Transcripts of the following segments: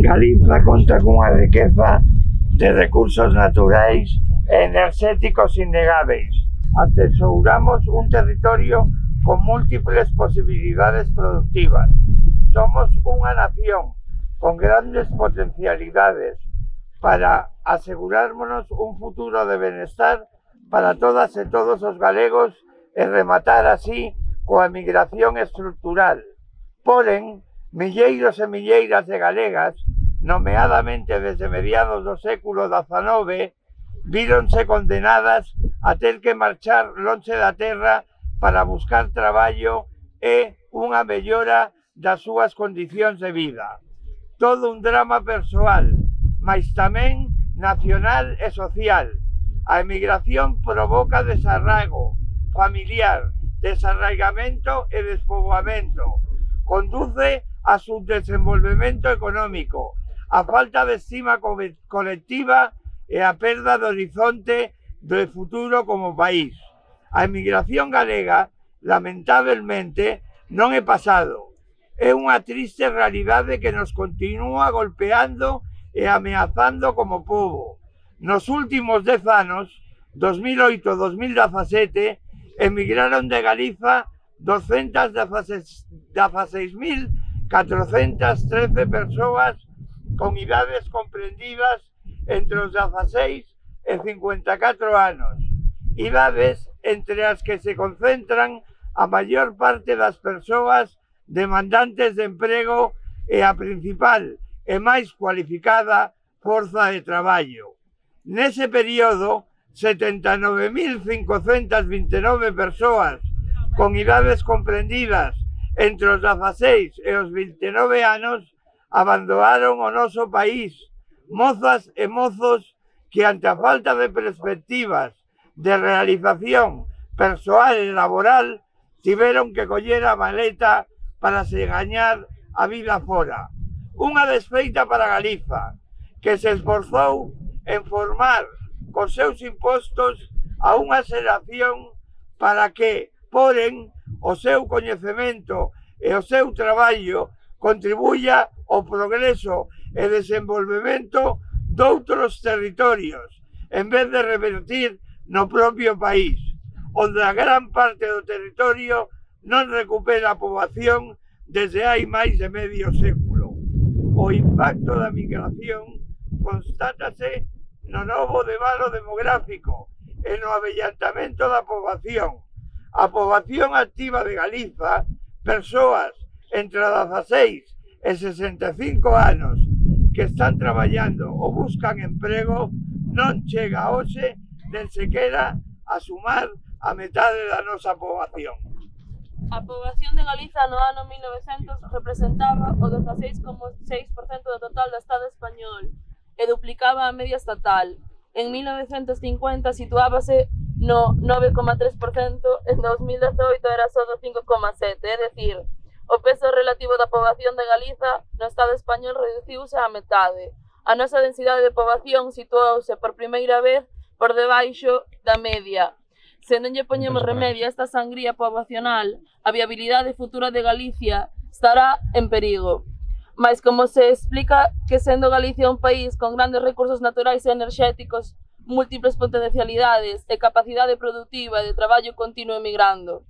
Galiza conta cunha riqueza de recursos naturais e enerxéticos innegáveis. Atesouramos un territorio con múltiples posibilidades productivas. Somos unha nación con grandes potencialidades para asegurármonos un futuro de benestar para todas e todos os galegos e rematar así coa emigración estrutural. Porén, milleiros e milleiras de galegas, nomeadamente desde mediados do século XIX, víronse condenadas a ter que marchar lonxe da terra para buscar traballo e unha mellora das súas condicións de vida. Todo un drama persoal, mais tamén nacional e social. A emigración provoca desarraigo familiar, desarraigamento e despoboamento. Conduce a subdesenvolvemento económico, a falta de estima colectiva e a perda de horizonte do futuro como país. A emigración galega, lamentablemente, non é pasado. É unha triste realidade que nos continúa golpeando e ameazando como pobo. Nos últimos 10 anos, 2008-2017, emigraron de Galiza 216.413 persoas con idades comprendidas entre os 16 e 54 anos. Idades entre as que se concentran a maior parte das persoas demandantes de emprego e a principal e máis cualificada forza de traballo. Nese período, 79.529 persoas con idades comprendidas entre os 16 e os 29 anos abandonaron o noso país, mozas e mozos que ante a falta de perspectivas de realización persoal e laboral tiveron que coller a maleta para se gañar a vida fora. Unha desfeita para Galiza, que se esforzou en formar cos seus impostos a unha xeración para que, porén, o seu coñecemento e o seu traballo contribuya ao progreso e desenvolvemento doutros territorios, en vez de revertir no propio país, onde a gran parte do territorio non recupera a poboación desde hai máis de medio século. O impacto da migración constátase no novo debalo demográfico e no avellantamento da poboación. A poboación activa de Galiza, persoas entre 16 e 65 anos que están traballando ou buscan emprego, non chega hoxe nen sequera a sumar a metade da nosa poboación. A poboación de Galiza no ano 1900 representaba o 16,6% do total do Estado español e duplicaba a media estatal. En 1950 situábase no 9,3%, en 2018 era só do 5,7%, é dicir, o peso relativo da poboación de Galiza no Estado español reduciuse á metade. A nosa densidade de poboación situouse por primeira vez por debaixo da media. Se non lle poñemos remedio a esta sangría poboacional, a viabilidade futura de Galicia estará en perigo. Mais como se explica que sendo Galicia un país con grandes recursos naturais e enerxéticos, múltiples potencialidades e capacidade productiva de traballo continuo emigrando?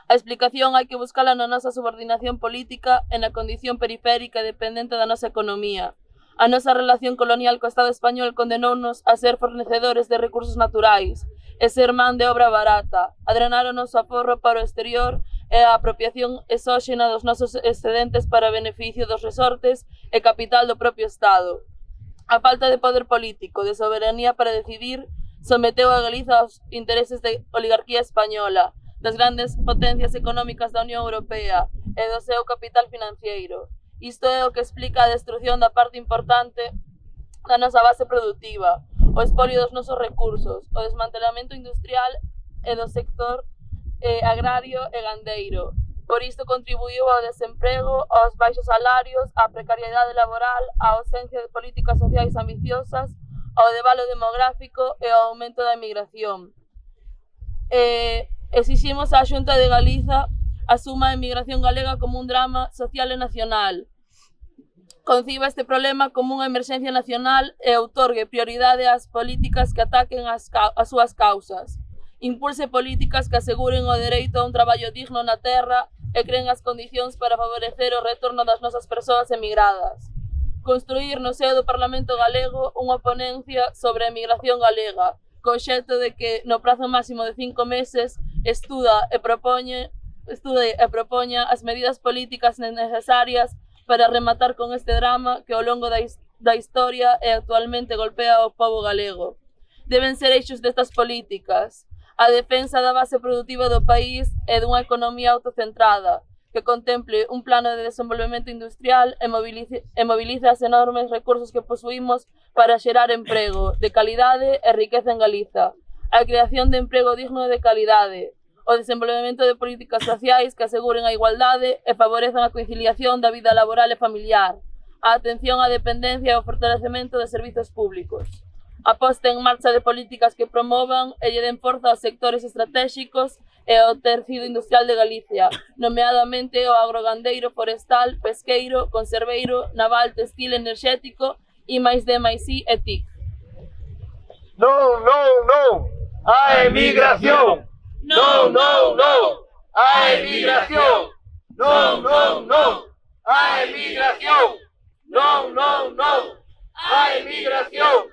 A explicación hai que buscala na nosa subordinación política e na condición periférica e dependente da nosa economía. A nosa relación colonial co Estado español condenounos a ser fornecedores de recursos naturais e ser man de obra barata, a drenar o noso aforro para o exterior e a apropiación exóxena dos nosos excedentes para beneficio dos resortes e capital do propio Estado. A falta de poder político, de soberanía para decidir, someteu a Galiza aos intereses da oligarquía española, das grandes potencias económicas da Unión Europea e do seu capital financiero. Isto é o que explica a destrucción da parte importante da nosa base productiva, o espolio dos nosos recursos, o desmantelamento industrial e do sector agrario e gandeiro. Por isto contribuiu ao desemprego, aos baixos salarios, á precariedade laboral, á ausencia de políticas sociais ambiciosas, ao debalo demográfico e ao aumento da emigración. Exiximos á Xunta de Galiza asuma a emigración galega como un drama social e nacional, conciba este problema como unha emerxencia nacional e outorgue prioridade ás políticas que ataquen as súas causas. Impulse políticas que aseguren o dereito a un traballo digno na terra e creen as condicións para favorecer o retorno das nosas persoas emigradas. Construir no seo do Parlamento galego unha ponencia sobre a emigración galega, co obxecto de que no prazo máximo de 5 meses estude e propoña as medidas políticas necesarias para rematar con este drama que ao longo da historia e actualmente golpea ao pobo galego. Deben ser eixos destas políticas a defensa da base produtiva do país e dunha economía autocentrada, que contemple un plano de desenvolvemento industrial e movilice os enormes recursos que posuímos para xerar emprego de calidade e riqueza en Galiza, a creación de emprego digno e de calidade, o desenvolvemento de políticas sociais que aseguren a igualdade e favorezan a conciliación da vida laboral e familiar, a atención á dependencia e o fortalecemento de servizos públicos, a posta en marcha de políticas que promovan e lle den forza aos sectores estratégicos e ao tecido industrial de Galicia, nomeadamente o agrogandeiro, forestal, pesqueiro, conserveiro, naval, textil, enerxético, I+D+I e TIC. Non, non, non, a emigración! Non, non, non, a emigración! Non, non, non, a emigración! Non, non, non, a emigración!